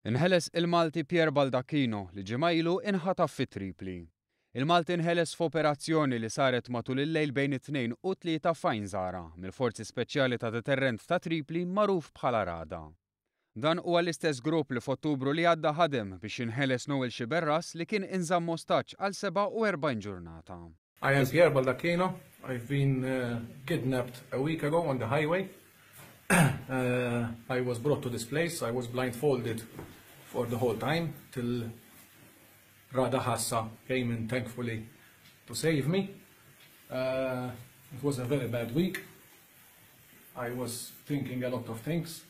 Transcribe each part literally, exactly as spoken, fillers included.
Inħeles il-Malti Pierre Baldacchino li ġimgħa ilu inħataf fi Tripli. Il-Malti inħeles f'operazzjoni li saret matul il-lejl bejn it-tnejn u tlieta f'Għajn Żara mill-Forzi Speċjali ta' Deterrent ta' Tripli magħruf bħala Rada. Dan huwa l-istess grupp li f'Ottubru li għadda ħadem biex jinħeles Noel Sciberras li kien inżamm ostaġġ għal sebgħa u erbgħin ġurnata. I am Pierre Baldacchino. I've been uh, kidnapped a week ago on the highway. uh, I was brought to this place. I was blindfolded for the whole time till Rada Hassa came in, thankfully, to save me. Uh, it was a very bad week. I was thinking a lot of things,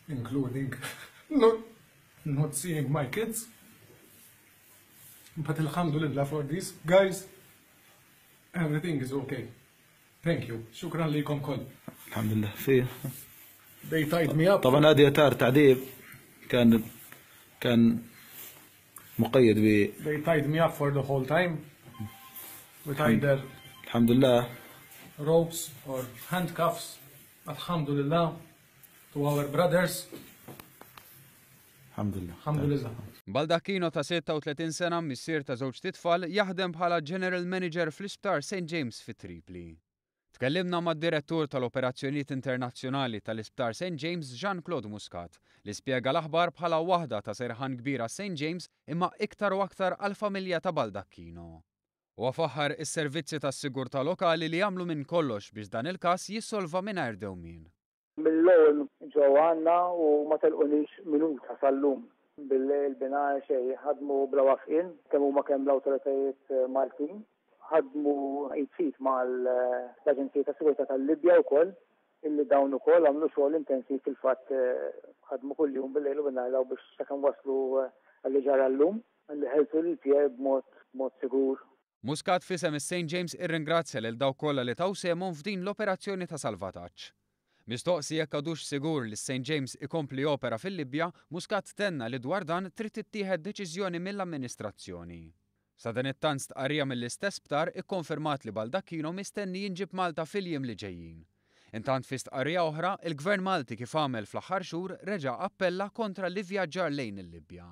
including not, not seeing my kids. But alhamdulillah for this, guys, everything is okay. Thank you. شكرا لكم كل. الحمد لله في They tied me up. طبعا هذه اثار تعذيب، كان كان مقيد ب They tied me up for the whole time with either الحمد لله ropes or handcuffs. Alhamdulillah to our brothers. الحمد لله. الحمد لله. Baldacchino ta' sitta u tletin sena, missier ta' żewġt itfal, jaħdem bħala General Manager fl-Isptar Saint James fi Tripli. Tkellimna mad-direttur tal-Operazzjonijiet Internazzjonali tal-Isptar Saint James, Jean-Claude Muscat, li spjega l-aħbar bħala waħda ta' serħan kbira Saint James imma iktar u aktar għal-familja ta' Baldacchino. U faħħar is-servizzi tas-sigurtà lokali li jagħmlu minn kollox biex dan il-każ jissolva mingħajr dewmien. Mill-ewwel ġew għandna u ma telqunix minuta sal-lum. Bil-lejl binhar xejn, ħadmu bla waqfien, kemm huma kemm l-awtoritajiet Maltin. Ħadmu id f'id mal-Aġenzija ta' Sigurtà tal-Libja wkoll, illi dawn ukoll għamlu xogħol intensiv. Fil-fatt ħadmu kuljum bil-lejl u binhar biex sakemm waslu għalli ġara llum, għalli ħelsu lil Pierre b'mod mod sigur. Muscat f'isem is-Saint James irringrazzja lil dawk kollha li taw sehemhom f'din l-operazzjoni ta' salvataġġ. Mistoqsi jekk għadux sigur li Saint James ikompli opera fil-Libja, Muscat tenna li dwar dan trid tittieħed deċiżjoni mill-amministrazzjoni. Sadanittant, stqarrija mill-istess sptar ikkonfermat li Baldacchino mistenni jinġib Malta fil-jiem li ġejjin. Intant, fi stqarrija oħra, il-Gvern Malti, kif għamel fl-aħħar xhur, reġa' appella kontra l-ivvjaġġar lejn il-Libja.